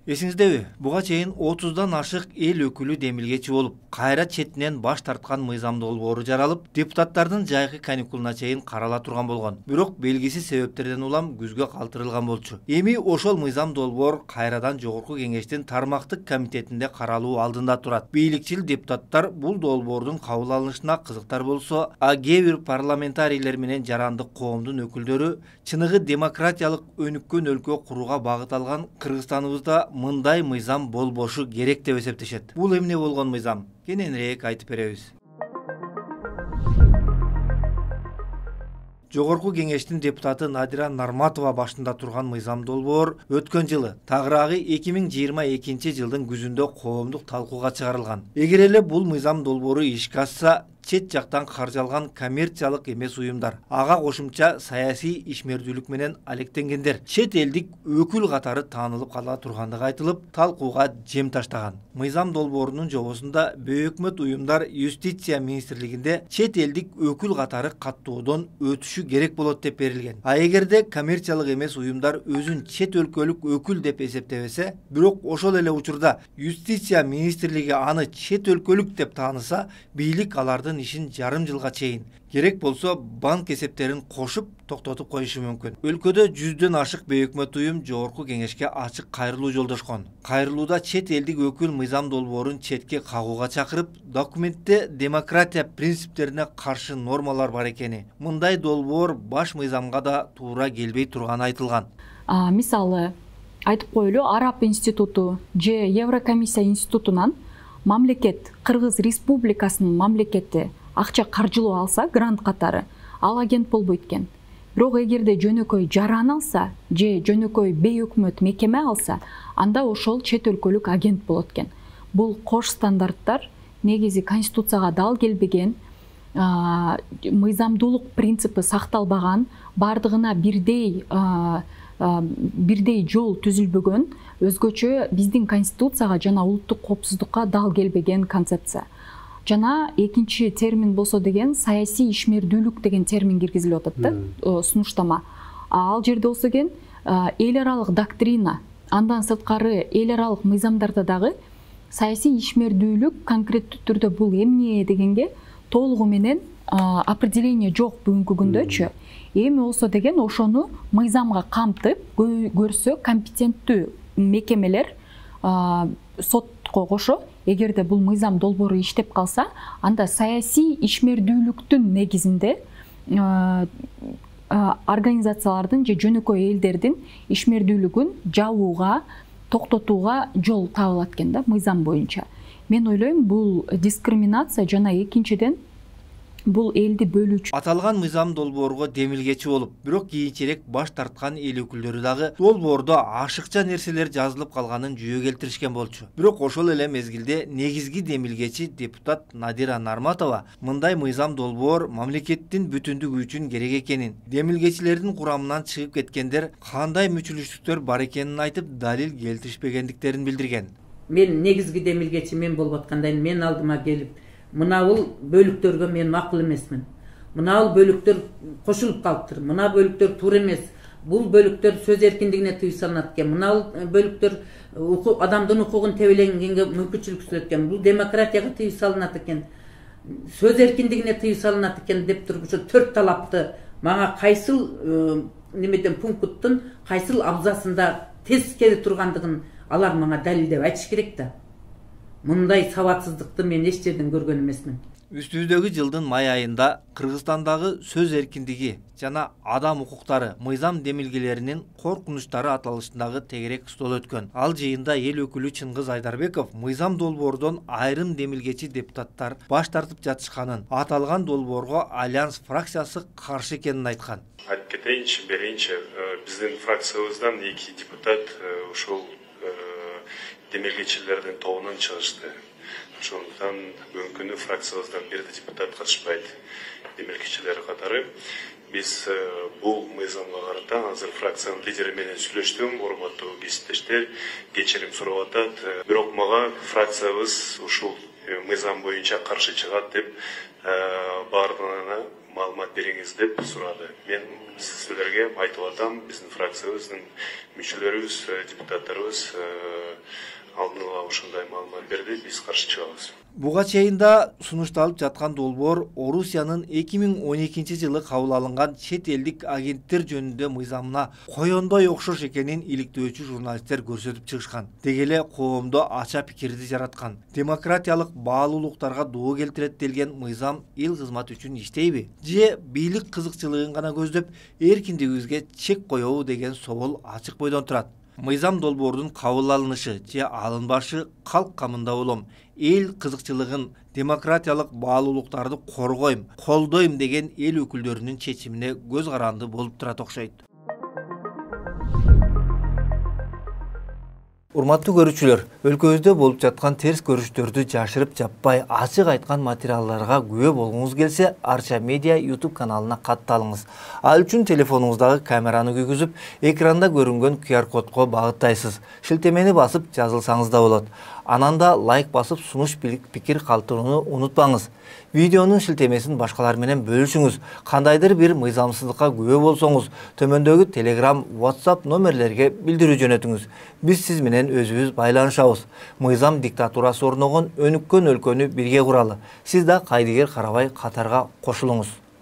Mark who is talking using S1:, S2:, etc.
S1: Эсиңиздеби, буга чейин 30дан ашык эл өкүлү демилгечи болуп, кайра четинен баш тарткан мыйзам долбоору жаралып, депутаттардын жайкы каникулуна чейин карала турган болгон. Бирок белгисиз себептерден улам күзгө калтырылган болчу. Эми ошол мыйзам долбоор кайрадан жогорку кеңештин тармактык комитетинде каралуу алдында турат. Бийликчил депутаттар бул долбоордун кабыл алынышына кызыктар болсо, кээ бир парламентарийлер менен жарандык коомдун өкүлдөрү чыныгы демократиялык өнүккөн өлкө курууга багыт алган Кыргызстаныбызда мындай мыйзам болбошу керек деп эсептешет. Бул эмне болгон мыйзам? Кененирээк айтып беребиз. Жогорку кеңештин депутаты Надира Нарматова башында турган мыйзам долбоор өткөн жылы, тагыраагы 2022 жылдын күзүндө коомдук талкууга чыгарылган. Эгер эле бул мыйзам долбоору ишке ашса, чет жактан каржалган коммерциялык эмес уюмдар, ага кошумча саясий ишмердүүлүк менен алектенгендер чет элдик өкүл катары таанылып кала тургандыгы айтылып, талкууга жем таштаган. Мыйзам долбоорунун жобосунда бейөкмөт уюмдар юстиция министрлигинде чет элдик өкүл катары каттоодон өтүшү керек болот деп берилген. А эгерде коммерциялык эмес уюмдар өзүн чет өлкөлүк өкүл деп эсептебесе, бирок ошол эле учурда юстиция министрлиги аны чет өлкөлүк деп тааныса, бийлик алардын ишин жарым жылга чейин, керек болсо банк эсептерин кошуп токтотуп коюшу мүмкүн. Өлкөдө 100дөн ашык бейөкмөт уюм жогорку кеңешке ачык кайрылуу жолдошкон. Кайрылууда чет элдик өкүл мыйзам долбоорун четке кагууга чакырып, документте демократия принциптерине каршы нормалар бар экени, мындай долбоор баш мыйзамга да туура келбей турганы айтылган.
S2: Мисалы, айтып коелу, Араб институту же Еврокомиссия институтунан мамлекет, Кыргыз Республикасынын мамлекети акча каржылоо алса, грант катары, ал агент болбойт экен. Бирок эгерде жөнөкөй жаран алса, же жөнөкөй бейөкмөт мекеме алса, анда ошол чет өлкөлүк агент болот экен. Бул кош стандарттар негизи конституцияга дал келбеген, мыйзамдуулук принципи сакталбаган, бардыгына бирдей жол түзүлбөгөн, өзгөчө биздин конституцияга жана улуттук коопсуздукка дал келбеген концепция. Жана экинчи термин болсо деген саясий ишмердүүлүк деген термин киргизилип атат да, сунуштама. Ал жерде болсо деген эл аралык доктрина, андан сырткары эл аралык мыйзамдарда дагы саясий ишмердүүлүк конкреттүү түрдө бул эмне дегенге толугу менен определение жок бүгүнкү күндөчү. Эми болсо деген ошону мыйзамга камтып көрсө компетенттүү мекемелер сотко кошо, эгерде бул мыйзам долбоору иштеп калса, анда саясий ишмердүүлүктүн негизинде организациялардын же жөнөкөй элдердин ишмердүүлүгүн жабууга, токтотууга жол табылат экен да, мыйзам боюнча. Мен ойлойм, бул дискриминация жана экинчиден бул элди бөлүүчү.
S1: Аталган мыйзам долбоорго демилгечи болуп, бирок кийинчерээк баш тарткан эл өкүлдөрү дагы долбоордо ашыкча нерселер жазылып калганын жүйө келтиришкен болчу. Бирок ошол эле мезгилде негизги демилгечи депутат Надира Нарматова мындай мыйзам долбоор мамлекеттин бүтүндүгү үчүн керек экенин, демилгечилердин курамынан чыгып кеткендер кандай мүчүлүштүктөр бар экенин айтып, далил келтиришпегендиктерин билдирген.
S3: Мен негизги демилгечи мен болуп аткандан мен алдыма келип, мынабул бөлүктөргө мен макул эмесмин. Мынабул бөлүктөр кошулуп калыптыр. Мына бөлүктөр туура эмес. Бул бөлүктөр сөз эркиндигине тыюу салынат экен. Мына бөлүктөр адамдын укугун тебеленгенге мүмкүнчүлүк түзөт экен. Бул демократияга тыюу салынат экен. Сөз эркиндигине тыюу салынат экен деп туруп ошо 4 талапты мага кайсыл немеден пункттун кайсыл абзасында тез келе тургандыгын алар мага далилдеп айтыш керек да. Мындай сабатсыздыкты мен эч жерден көргөн эмесмин.
S1: Үстүбүздөгү жылдын май айында Кыргызстандагы сөз эркиндиги жана адам укуктары мыйзам демилгелеринин коркунучтары аталышындагы тегерек стол өткөн. Ал жыйында эл өкүлү Чыңгыз Айдарбеков мыйзам долбоордон айрым демилгечи депутаттар баш тартып жатышканын, аталган долбоорго Альянс фракциясы каршы экенин айткан.
S4: Айтып кетейинчи, биздин фракциябыздан 2 депутат ушул демилгечилердин тобунан чыгышты. Ошондуктан бүгүнкү күнү фракциябыздан бир депутат катышпайт. Демилгечилер катары биз бул мыйзамга карата азыр фракциянын лидери менен сүйлөштүм, урматтуу кесиптештер, кечирим сурап атат. Бирок мага фракциябыз ушул мыйзам боюнча каршы чыгат деп баардыгына маалымат бериңиз деп сурады. Мен силерге айтып атам, биздин фракциябыздын мүчөлөрүбүз, депутаттарыбыз ушундай маалымат берди, биз каршы чыгабыз.
S1: Буга чейин да сунушталып жаткан долбоор Орусиянын 2012 жылы кабыл алынган чет элдик агенттер жөнүндө мыйзамына коёндой окшош экенин иликтөөчү журналисттер көрсөтүп чыгышкан. Деги эле коомдо ача пикирди жараткан. Демократиялык баалуулуктарга доо келтирет делген мыйзам эл кызматы үчүн иштейби? Же бийлик кызыкчылыгын гана көздөп, эркиндигибизге чек коебу деген соол ачык бойдон турат. Мыйзам долбоордун кабыл алынышы же алынбашы калк камында болом. Эл кызыкчылыгын, демократиялык баалуулуктарды коргойм, колдойм деген эл өкүлдөрүнүн чечимине көз каранды болуп турат окшойт. Урматтуу көрүүчүлөр, өлкөбүздө болуп жаткан терс көрүштөрдү жашырып жаппай ачык айткан материалдарга күбө болгуңуз келсе, Арча Медиа YouTube каналына катталыңыз. Ал үчүн телефонуңуздагы камераны күйгүзүп, экранда көрүнгөн QR кодко багыттайсыз. Шилтемени басып жазылсаңыз да болот. Анан да лайк басып сунуш пикир калтырууну унутпаңыз. Видеонун шилтемесин башкалар менен бөлүшүңүз. Кандайдыр бир мыйзамсыздыкка күбө болсоңуз, төмөндөгү Telegram, WhatsApp номерлерге билдирүү жөнөтүңүз. Биз сиз менен өзүбүз байланышабыз. Мыйзам диктатурасы орногон өнүккөн өлкөнү бирге куралы. Сиз да кайдыгер карабай катарга кошулуңуз.